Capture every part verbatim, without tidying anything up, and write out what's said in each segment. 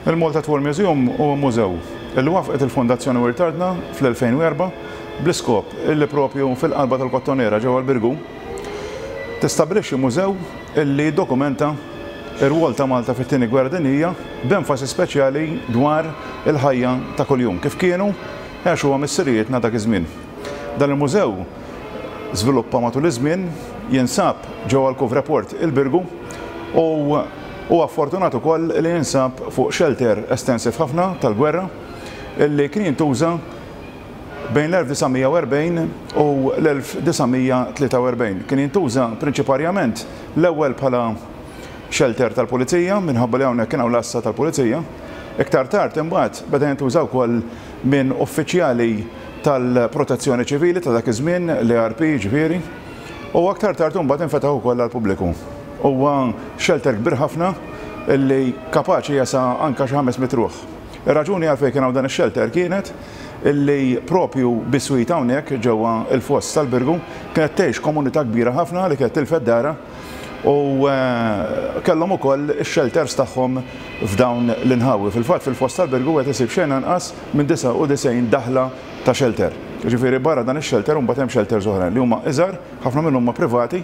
Il-Malta War Museum huwa mużew li waqqfet il-Fondazzjoni Wirt Artna fl-elfejn u erbgħa bl-iskop illi propju fil-qalba tal-Kottonera ġewwa l-Birgu tistabbilixxi mużew illi dokumenta ir-rwol ta' Malta fit-Tieni Gwerra Dinjija b'enfasi speċjali dwar il-ħajja ta' kuljum kif kienu għexuha missirijietna dak iż-żmien. Dan il-mużew żviluppa matul iż-żmien, jinsab ġewwa l-Couvre Port il-Birgu u huwa fortunat ukoll li jinsab fuq shelter estensiv ħafna tal-gwerra illi kien jintuża bejn l-elf disa' mija u erbgħin u l-elf disa' mija tlieta u erbgħin. Kien jintuża prinċiparjament l-ewwel bħala shelter tal-pulizija minħabba li hawnhekk kien hawn l-għassa tal-pulizija. Iktar tard imbagħad beda jintuża wkoll minn uffiċjali tal-protezzjoni ċivili ta' dak iż-żmien, l-A R P ġifieri, u aktar tard imbagħad infetaħ ukoll għall-pubbliku. Huwa shelter kbir ħafna illi kapaċi jasa anka xi ħames mitt ruħ. Ir-raġuni għalfejn kien hawn dan ix-shelter kienet illi propju biswit hawnhekk ġewwa il-foss tal-Birgu kienet tgħix komunità kbira ħafna li kienet tilfet dara u, eh, kellhom ukoll ix-shelters tagħhom f'dawn l-inħawi. Fil-fatt fil-foss tal-Birgu qed isib xejn anqas minn disgħa u disgħin daħla ta' shelter. Ġifieri barra dan ix-shelter imbagħad hemm shelters oħrajn li huma iżgħar, ħafna minnhom huma privati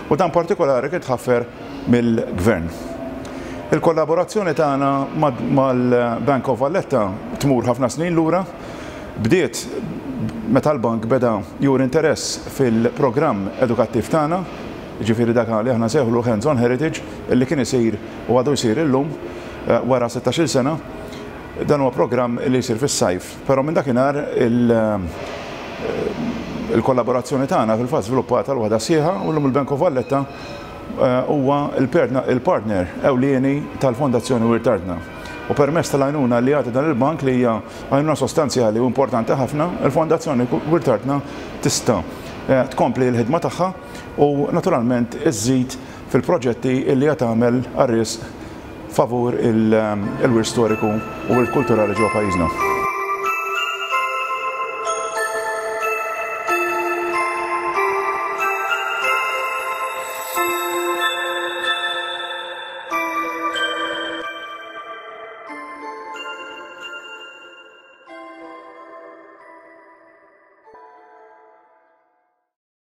u dan partikolari kien tħaffer mill-gvern. Il-kollaborazzjoni tagħna mad-, mal-Bank of Valletta tmur ħafna snin lura, bdiet meta l-bank beda jur interess fil-programm edukattiv tagħna, ġifieri dak li aħna nsejħulu Hands on Heritage, illi kien isir u għadu jsir illum, eh, wara sittax-il sena. Dan huwa programm li jsir fis-sajf, però minn dakinhar il-, eh, il-kollaborazzjoni tagħna fil-fatt żviluppata l waħda sħiħa u llum il-Bank of Valletta, eh, huwa il-partner, il-partner ewlieni tal-Fondazzjoni Wirt Artna. U permezz tal-għajnuna li jagħti dan il-bank li hija għajnuna sostanzjali u importanti ħafna, il-Fondazzjoni Wirt Artna tista', eh, tkompli l-ħidma tagħha u naturalment iżżid fil-proġetti li qed tagħmel għar-risq favur il-, il-wirt storiku u l-kulturali ġewwa pajjiżna.